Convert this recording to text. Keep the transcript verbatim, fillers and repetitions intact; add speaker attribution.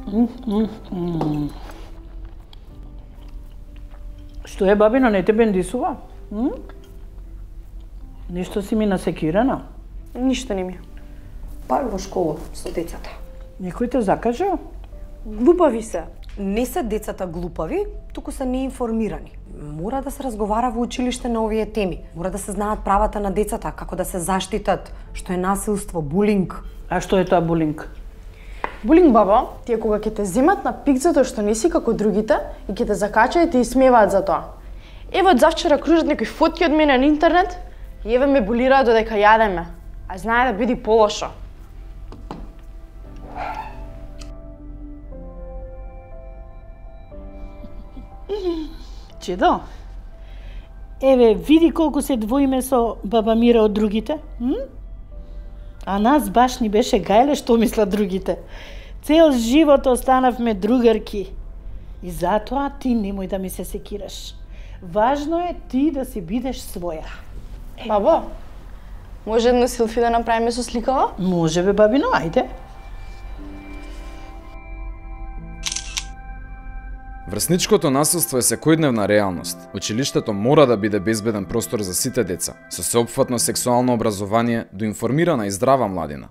Speaker 1: М, м, м. Што е, бабино, не те бендисува? М? Ништо си ми насекирана?
Speaker 2: Ништо не ми.
Speaker 3: Пак во школа со децата.
Speaker 1: Некој те закажа?
Speaker 2: Глупави се.
Speaker 3: Не се децата глупави, туку се неинформирани. Мора да се разговара во училиште на овие теми. Мора да се знаат правата на децата, како да се заштитат, што е насилство, булинг.
Speaker 1: А што е тоа булинг?
Speaker 2: Булинг, баба, ти е кога ќе те земат на пик затоа што не си како другите и ќе те закачаат и те исмеваат за тоа. Ево од завчера кружат некои фотки од мене на интернет и еве ме булираат додека јадеме. А знае да биде полошо.
Speaker 1: Чедо? Еве, види колку се двоиме со баба Мира од другите. М? А нас баш ни беше гајле што мислат другите. Цел живот останавме другарки. И затоа ти немој да ми се секираш. Важно е ти да си бидеш своја.
Speaker 2: Бабо, може едно селфи да направиме со сликава?
Speaker 1: Може бе, бабино, ајде.
Speaker 4: Врсничкото насилство е секојдневна реалност. Училиштето мора да биде безбеден простор за сите деца, со сеопфатно сексуално образование до информирана и здрава младина.